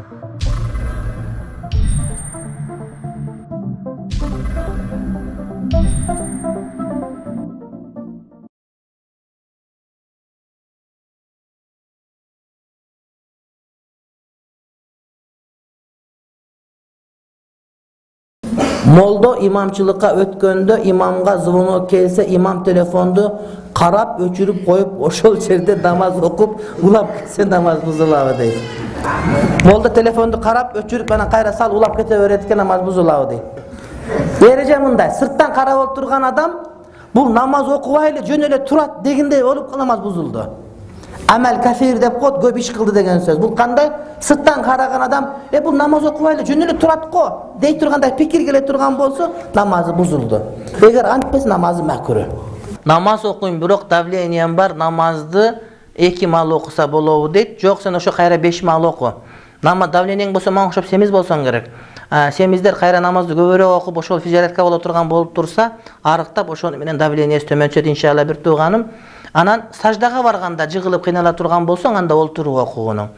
Молдо имамчылыкка өткөндө имамга звонок келсе, имам телефонду карап өчүрүп коюп, ошол жерде намаз окуп, улап кетсе намаз бузулабы дейт. Молдо телефонду карап өчүрүп, анан кайра сал улап кете берет экен, намаз бузулабы дейт. Эреже мындай, сырттан карап отурган адам бул намаз окубай эле жөн эле турат дегендей болуп намаз бузулду. Амел кафир деп коет, көп иш кылды деген сөз. Бул кандай? Сырттан караган адам, бул намаз окубай эле жөн эле турат го дей тургандай пикир келе турган болсо, намазы бузулду. Эгер антпес намазы макруh. Намаз окуйм, бирок давлением бар, намазды 2 маал окуса болобу дейт. Жок, сен ошо кайра 5 маал оку. Намаз давлениең болсо, мага окшоп семиз болсоң керек. Семиздер кайра намазды көбүрөөк окуп, ошол физиотерапия боло турган болуп турса, арыктап ошону менен давлениеси төмөнчөйт иншалла бир тууганым. Анан саждага барганда жыгылып кыйнала турган болсоң, анда олтуруп окугуну.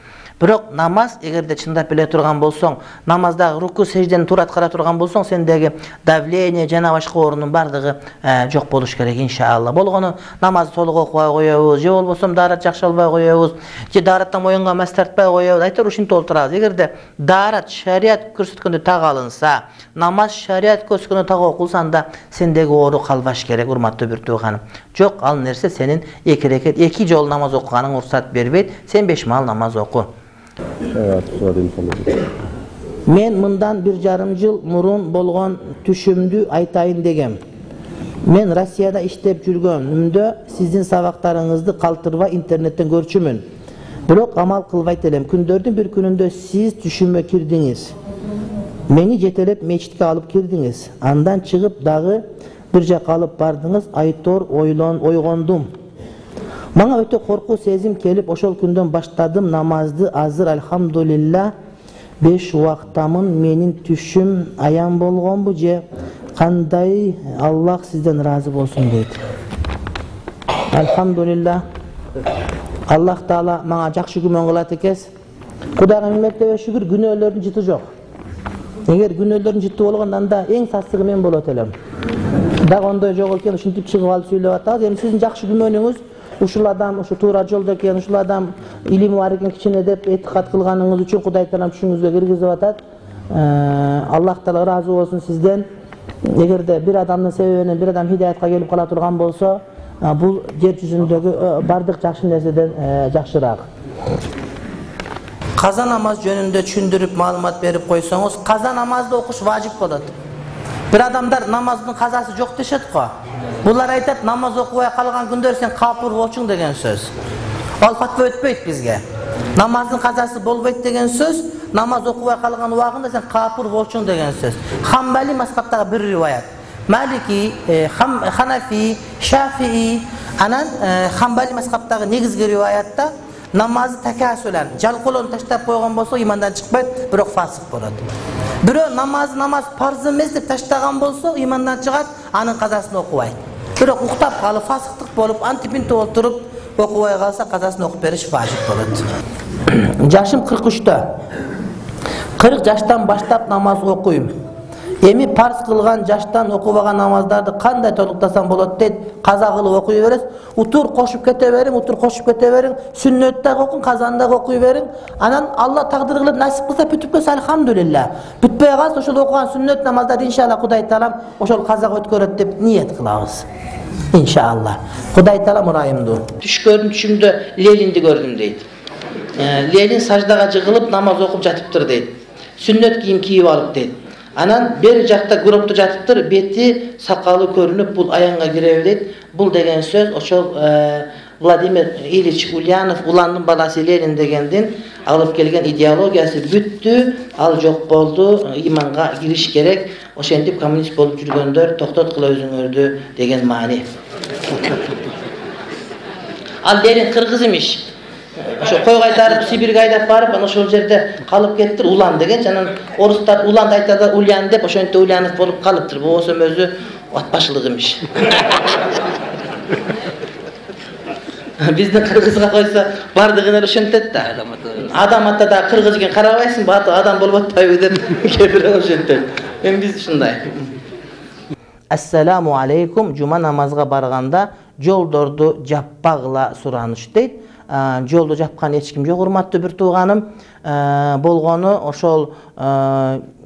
Бирок намаз эгерде чындап биле турган болсоң, намаздагы руку сеждени туура аткара турган болсоң, сендеги давление жана башка оорунун бардыгы жок болуш керек иншалла. Болгону намазды толук окубай коебуз, же болбосо даарат жакшы албай коебуз, же даараттан моюнга мас тартпай коебуз. Айтор ушинтип олтурабыз. Эгерде даарат шарият көрсөткөндө так алынса, намаз шарият көрсөткөндө так окулса, анда сендеги оору калбаш керек, урматтуу бир тууганым. Жок, ал нерсе сенин 2 рекет 2 жолу намаз окуганың уруксат бербейт. Сен 5 маал намаз оку. Мен мындан 1,5 жыл мурун болгон түшүмдү айтайын дегем. Мен Россияда иштеп жүргөнүмдө сиздин сабактарыңызды калтырбай интернеттен көрчүмүн. Бирок амал кылбайт элем. Күндөрдүн бир күнүндө сиз түшүмө кирдиңиз. Мени жетелеп мечитке алып кирдиңиз. Андан чыгып дагы бир жакка алып бардыңыз. Айтор ойгондум. Мага өтө коркуу сезим келип, ошол күндөн баштадым намазды. Азыр альхамдулилла 5 убактамын. Менин түшүм аян болгонбу же кандай? Аллах сизден разы болсун дейт. Альхамдулилла. Аллах Таала мага жакшы күмөн кылат экес. Кудайга миңнеттебе шүгүр, күнөөлөрдүн жыты жок. Эгер күнөөлөрдүн жыты болгондо анда эң сасыгы мен болот элем. Дагы ондой жок экен, ушинтип чыгып алып сүйлөп атабыз. Эми сиздин жакшы күмөнүңүз ушул адам ушу туура жолдо экен, ушул адам илими бар экен кичине деп этикат кылганыңыз үчүн Кудай Таалам түшүңүзгө киргизип атат. Аллах Таала ыраазы болсун сизден. Эгерде бир адамдын себебинен бир адам хидаятка келип кала турган болсо, бул жер жүзүндөгү бардык жакшы нерседен жакшыраак. Каза намаз жөнүндө түшүндүрүп маалымат берип койсоңуз, каза намазды окуш важип болот. Бир адамдар намаздын казасы жок дешет го. Булар айтат, намаз окубай калган күндөр сен капыр болчуң деген сөз. Ал фатва өтпөйт бизге. Намаздын казасы болбойт деген сөз, намаз окубай калган убагында сен капыр болчуң деген сөз. Хамбали мазхабтагы бир риваят. Малики, Ханафи, Шафии, анан Хамбали мазхабтагы негизги риваятта намазы такасулан, жалкоолон таштап койгон болсо имандан чыкпайт, бирок фасык болот. Бирөө намаз парз эмес деп таштаган болсо имандан чыгат, анын казасын окубайт. Бирок уктап калып, фасыктык болуп, антипинте олтуруп окубай калса, казасын окуп бериш важип болот. Жашым 43-тө. 40 жаштан баштап намаз окуйм. Эми парз кылган жаштан окубаган намаздарды кандай толуктасам болот дейт. Каза кылып окуй бересиз. Утур кошуп кете бериң, сүннөттө окуң, казанда окуй бериң. Анан Алла тагдыр кылып насип кылса бүтүп кетсе альхамдулилла. Бүтпөй калса ошол окуган сүннөт намаздарды иншалла Кудай Таалам ошол казага өткөрөт деп ниет кылабыз. Иншалла. Кудай Таалам ырайымдуу. Түшүмдө Ленинди көрдүм дейт. Ленин саждага жыгылып намаз окуп жатыптыр дейт. Сүннөт кийим кийип алып дейт. Анан бери жакта гробту жатыптыр, бети, сакалы көрүнүп, бул аянга киреби дейт. Бул деген сөз ошол Владимир Ильич Ульянов, Уландын баласы Ленин дегендин алып келген идеологиясы бүттү, ал жок болду, иманга кириш керек. Ошентип коммунист болуп жүргөндөр токтоткула өзүңөрдү деген маани. Ал Ленин кыргыз имиш. Ошо кой кайтарып Сибирге айдап барып, ана ошол жерде калып кеттир, Улан деген. Жанан орустар Улан айтады Ульян деп, ошентип Ульянов болуп калыптыр. Болсо өзү атбашылык имиш. Биздин кыргызга койсо бардыгын эле ошентет да. Адам ата да кыргыз экен карабайсыңбы, адам болуп атпайбы деп кээ бирөө ошентет. Эми биз ушундай. Ассаламу алейкум. Жума намазга барганда жолдорду жаппагыла сураныш дейт. Жолду жапкан эч ким жок, урматтуу бир тууганым. Болгону ошол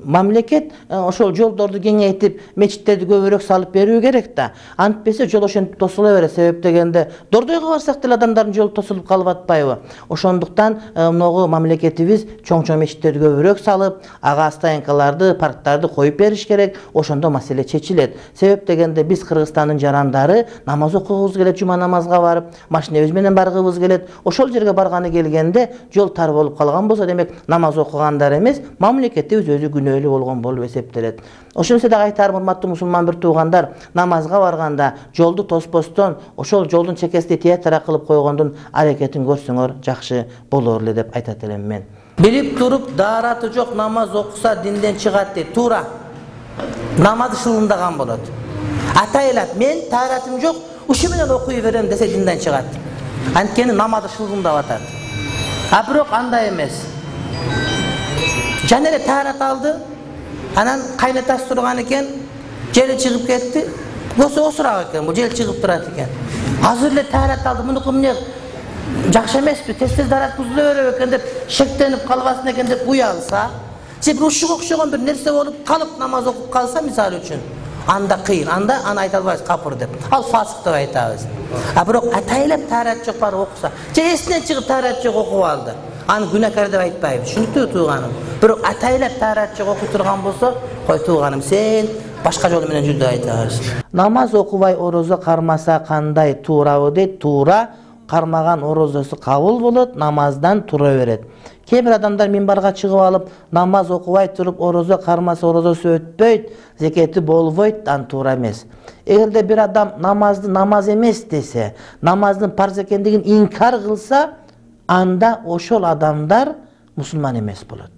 мамлекет ошол жолдорду кеңейтип, мечиттерди көбүрөөк салып берүү керек да. Антпесе жол ошентип тосула берет. Себеп дегенде Дордойго барсак деле адамдардын жолу тосулуп калып атпайбы? Ошондуктан могу мамлекетибиз чоң-чоң мечиттерди көбүрөөк салып, ага стоянкаларды, парктарды коюп бериш керек. Ошондо маселе чечилет. Себеп дегенде биз Кыргызстандын жарандары намаз окугубуз келет, жума намазга барып, машинебиз менен баргыбыз келет. Ошол жерге барганы келгенде жол тар болуп калган болсо, демек намаз окугандар эмес, мамлекетибиз өзү күнөөлүү болгон болуп эсептелет. Ошондо да айтарым, урматтуу мусулман бир туугандар, намазга барганда жолду тоспостон, ошол жолдун чекесине театр кылып койгондун аракетин көрсөңөр жакшы болор эле деп айтат элем мен. Билип туруп даараты жок намаз окуса динден чыгат дейт. Туура. Намаз шылындаган болот. Атайлап, мен тааратым жок, ушу менен окуй берем десе динден чыгат. Анткени намазы шылындап атат. А бирок андай эмес. Жана эле таарат алды, анан кайнатасы турган экен, жери чыгып кетти. Көсө осурак экен, бул жел чыгып турат экен. Азыр эле таарат алды, мунуку эмне жакшы эмеспи, тез-тез таарат бузула берет экен деп шектенип калбасын экен деп уялса, же бир ушуга окшогон бир нерсе болуп калып намаз окуп калса мисалы үчүн, анда кыйын, анда аны айта албайбыз капыр деп. Ал фасык деп айтабыз. А бирок атайлап таарат жок барып окуса, же эсинен чыгып таарат жок окуп алды. Аны күнәкар деп айтпайбыз. Түшүнүктүү тууганым. Бирок атайлап таарат жок окуй турган болсо, кой тууганым, сен башка жол менен жүрдү айтабыз. Намаз окубай орозо кармаса кандай туурабы дейт. Туура, кармаган орозосу кабыл болот, намаздан тура берет. Кээ бир адамдар минбарга чыгып алып, намаз окубай туруп орозо кармаса орозосу өтпөйт, зекети болбойт, ан туура эмес. Эгерде бир адам намазды намаз эмес десе, намаздын парз экендигин инкар кылса, анда ошол адамдар мусулман эмес болот.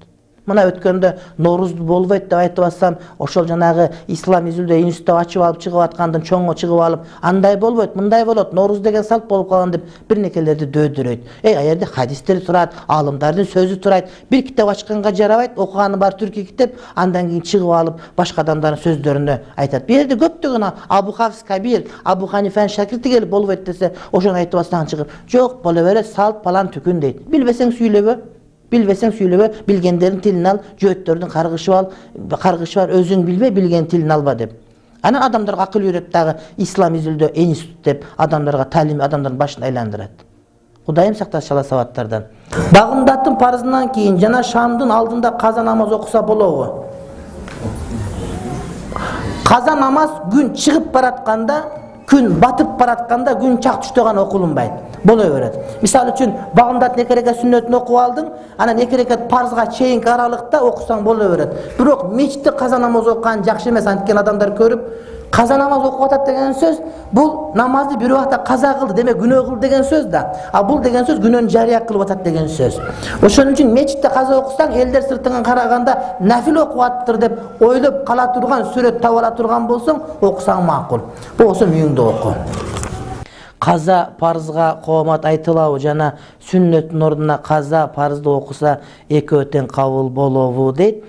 Мына өткөндө Ноорузду болбойт деп айтып атсам, ошол жанагы ислам изилдөө институт ачып алып чыгып аткандан чоңго чыгып алып, андай болбойт, мындай болот, Нооруз деген салт болуп калган деп бирнекелерди дөөдүрөйт. А жерде хадистер турат, алымдардын сөзү турат. Бир китеп ачканга жарабайт, окуганы бар түркү китеп, андан кийин чыгып алып башка адамдардын сөздөрүндө айтат. Бул жерде көптөгөн Абу Хафс Кабир, Абу Ханифанын шакирти келип болбойт десе, ошону айтып атсаң чыгып, жок боло берет, салт палан түкүн дейт. Билбесең сүйлөбө. Билбесең сүйлөбө, билгендердин тилин ал, жөөттөрдүн каргышы бар, өзүң билбе, билген тилин алба деп. Анан адамдарга акыл үйрөт дагы ислам изилдөө институт деп адамдарга талим, адамдардын башын айландырат. Кудайым сактасын шала сабаттардан. Багымдаттын парызынан кийин жана шамдын алдында каза намаз окуса болобу? Каза намаз күн чыгып баратканда, күн батып баратканда, күн чак түштө гана окулунбайт. Боло берет. Мисалы үчүн багымдат 2 рекат сүннөтүн окуп алдың, анан 2 рекат парзга чейинки аралыкта окусаң боло берет. Бирок мечитте каза намаз окуган жакшы эмес, анткени адамдар көрүп, каза намаз окуп атат деген сөз, бул намазды бир убакта каза кылды, демек күнөө кылды деген сөз да. А бул деген сөз күнөөнү жарыя кылып атат деген сөз. Ошон үчүн мечитте каза окусаң, элдер сыртыңан караганда нафил окуп аттыр деп ойлоп кала турган, сүрөт таап ала турган болсоң, окусаң макул. Болсо үйүңдө оку. Каза парызга коомат айтылабы жана сүннөттүн ордуна каза парызды окуса экөө тең кабыл болобу дейт.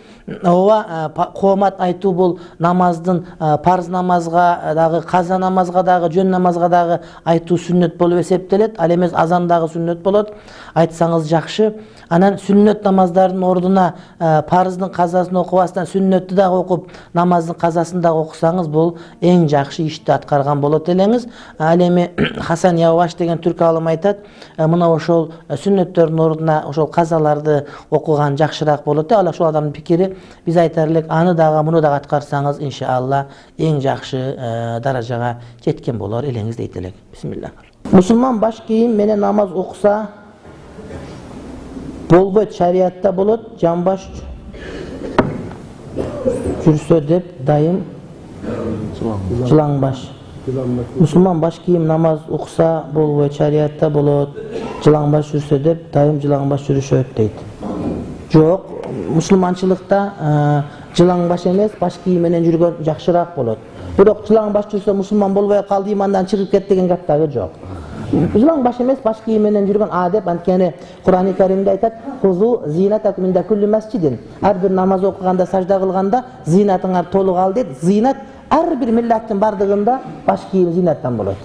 Ооба, коомат айтуу бул намаздын парыз намазга дагы, каза намазга дагы, жөн намазга дагы айтуу сүннөт болуп эсептелет. Ал эмес азан дагы сүннөт болот. Айтсаңыз жакшы. Анан сүннөт намаздардын ордуна парыздын казасын окубастан сүннөттү дагы окуп, намаздын казасын дагы окусаңыз, бул эң жакшы ишти аткарган болот элеңиз. Ал эми Хасан Яваш деген түрк алым айтат, мына ошол сүннөттөрдүн ордуна ошол казаларды окуган жакшыраак болот. Ал ошол адамдын пикири. Биз айтар элек, аны дагы, муну дагы аткарсаңыз, иншалла эң жакшы даражага жеткен болор элеңиз дейт элек. Бисмилlah. Мусулман баш кийим менен намаз окуса болбойт, шариатта болот, жамбаш жүрсө деп дайым жылаңбаш. Мусулман баш кийим намаз окуса болбойт, шариатта болот, жылаңбаш жүрсө деп дайым жылаңбаш жүрүшөт дейт. Жок, мусулманчылыкта жылаңбаш эмес, баш кийим менен жүргөн жакшыраак болот. Бирок жылаңбаш жүрсө мусулман болбой калды, имандан чыгып кетти деген гап дагы жок. Жылаң баш эмес, баш кийим менен жүргөн адеп. Анткени Кур'ан-ы Каримде айтат: "Хузу зинатакум инда кулли масжидин." Ар бир намаз окуганда, сажда кылганда зинатыңар толук ал дейт. Зинат ар бир миллаттын бардыгында баш кийим зинаттан болот.